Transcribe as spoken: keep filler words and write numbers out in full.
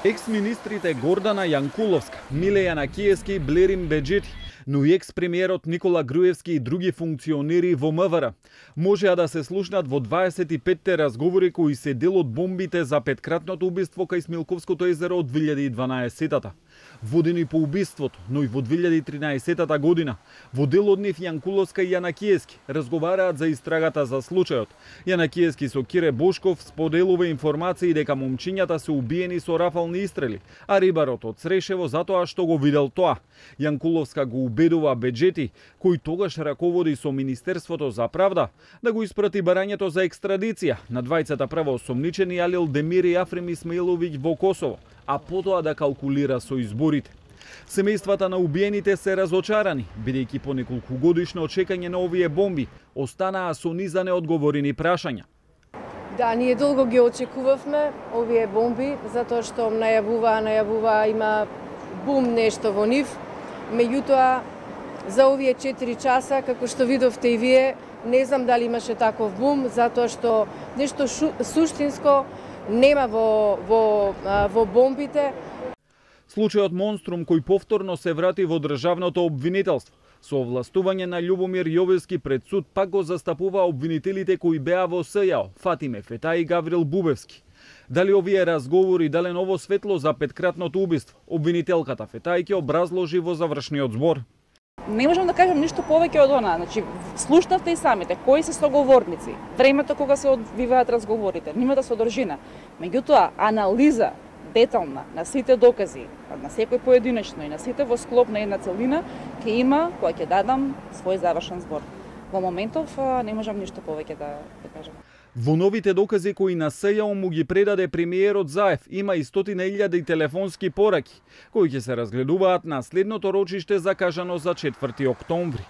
Екс-министрите Гордана Јанкуловска, Миле Јанакиевски и Блерин Беџети, но и екс-премиерот Никола Груевски и други функционери во МВР можеа да се слушнат во дваесет и петте разговори кои се дел од бомбите за петкратното убиство кај Смилковското езеро од две илјади и дванаесеттата. Водени по убиството, но и во две илјади и тринаесеттата година, во дел од нив Јанкуловска и Јанакиевски разговараат за истрагата за случајот. Јанакиевски со Кире Бошков споделува информации дека момчињата се убиени со рафални истрели, а рибарот од Срешево затоа што го видел тоа. Јанкуловска го убедува Беџети, кој тогаш раководи со Министерството за правда, да го испрати барањето за екстрадиција на двајцата правоосомничени Алил Демир и Афрем Исмаиловиќ во Косово, а потоа да калкулира со изборите. Семејствата на убиените се разочарани, бидејќи по неколку годишно чекање на овие бомби останаа со низа неодговорени прашања. Да, ние долго ги очекувавме овие бомби, затоа што најавува, најавува, има бум нешто во нив. Меѓутоа, за овие четири часа, како што видовте и вие, не знам дали имаше таков бум, затоа што нешто шу, суштинско нема во, во, во бомбите. Случајот Монструм кој повторно се врати во државното обвинителство, со овластување на Љубомир Јовевски пред суд пак го застапува обвинителите кои беа во СЈАО, Фатиме Фетај и Гаврил Бубевски. Дали овие разговори дале ново светло за петкратното убиство, обвинителката Фетај ќе образложи во завршниот збор. Не можам да кажам ништо повеќе од она. Значи, слушнавте и самите кои се соговорници, времето кога се одвиваат разговорите, нивната содржина. Меѓутоа, анализа детална на сите докази, на секој поединечно и на сите во склоп на една целина, ќе има кога ќе дадам свој завршен збор. Во моментов не можам ништо повеќе да, да кажам. Во новите докази кои на СЈАО му ги предаде премиерот Заев, има и стотина илјади телефонски пораки, кои ќе се разгледуваат на следното рочиште закажано за четврти октомври.